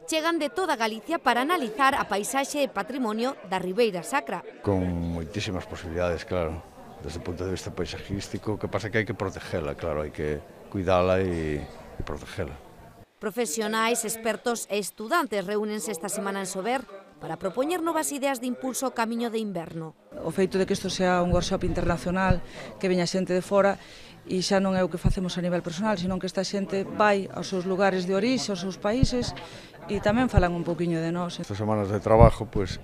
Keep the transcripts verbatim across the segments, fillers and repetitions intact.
chegan de toda Galicia para analizar a paisaxe e patrimonio da Ribeira Sacra. Con moitísimas posibilidades, claro, desde o punto de vista paisajístico, que pasa que hai que protegela, claro, hai que cuidala e, e protegela. Profesionais, expertos e estudantes reúnense esta semana en Sober para propoñer novas ideas de impulso ao camiño de inverno. O feito de que isto sea un workshop internacional, que veña xente de fora, e xa non é o que facemos a nivel personal, senón que esta xente vai aos seus lugares de orixe, aos seus países, e tamén falan un poquinho de nós. Estas semanas de trabajo, pois,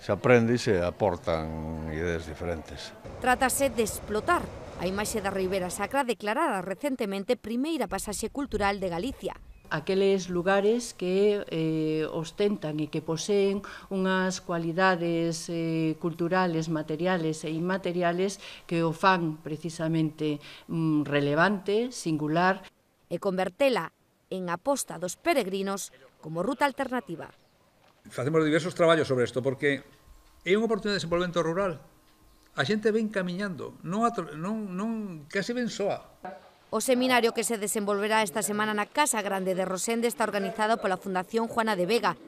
se aprende e se aportan ideas diferentes. Trátase de explotar a imaxe da Ribeira Sacra declarada recentemente primeira pasaxe cultural de Galicia. Aqueles lugares que eh, ostentan e que poseen unhas cualidades eh, culturales, materiales e inmateriales que o fan precisamente mm, relevante, singular. E convertela en aposta dos peregrinos como ruta alternativa. Facemos diversos traballos sobre isto porque é unha oportunidade de desenvolvemento rural. A xente ven camiñando, non, non, non case ven soa. O seminario que se desenvolverá esta semana na Casa Grande de Rosende está organizado pola Fundación Juana de Vega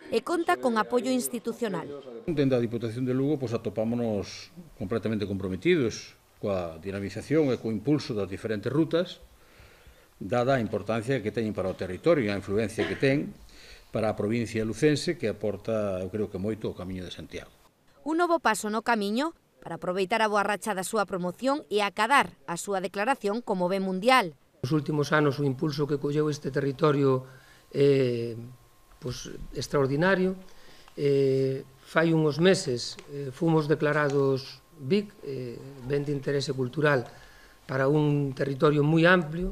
e conta con apoio institucional. Dende a Diputación de Lugo pois, atopámonos completamente comprometidos coa dinamización e co impulso das diferentes rutas, dada a importancia que teñen para o territorio e a influencia que ten para a provincia lucense, que aporta, eu creo que moito, o Camiño de Santiago. Un novo paso no camiño para aproveitar a boa racha da súa promoción e acadar a súa declaración como ben mundial. Nos últimos anos o impulso que colleu este territorio é eh, pues, extraordinario. Eh, fai uns meses eh, fomos declarados B I C, eh, ben de interese cultural, para un territorio moi amplio.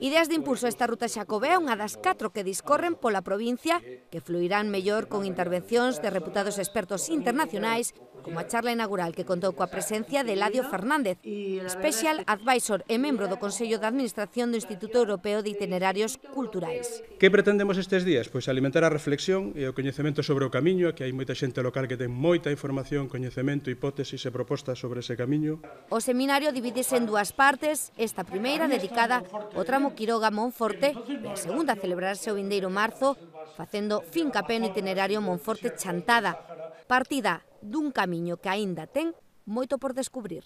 Ideas de impulso a esta ruta xacobea, unha das catro que discorren pola provincia, que fluirán mellor con intervencións de reputados expertos internacionais, como a charla inaugural que contou coa presencia de Eladio Fernández, Special Advisor e membro do Consello de Administración do Instituto Europeo de Itinerarios Culturais. Que pretendemos estes días? Pois alimentar a reflexión e o coñecemento sobre o camiño, que hai moita xente local que ten moita información, coñecemento, hipótesis e propostas sobre ese camiño. O seminario divídese en dúas partes, esta primeira dedicada ao tramo Quiroga-Monforte e a segunda a celebrarse o vindeiro marzo, facendo fincapé no itinerario Monforte-Chantada, partida dun camiño que aínda ten moito por descubrir.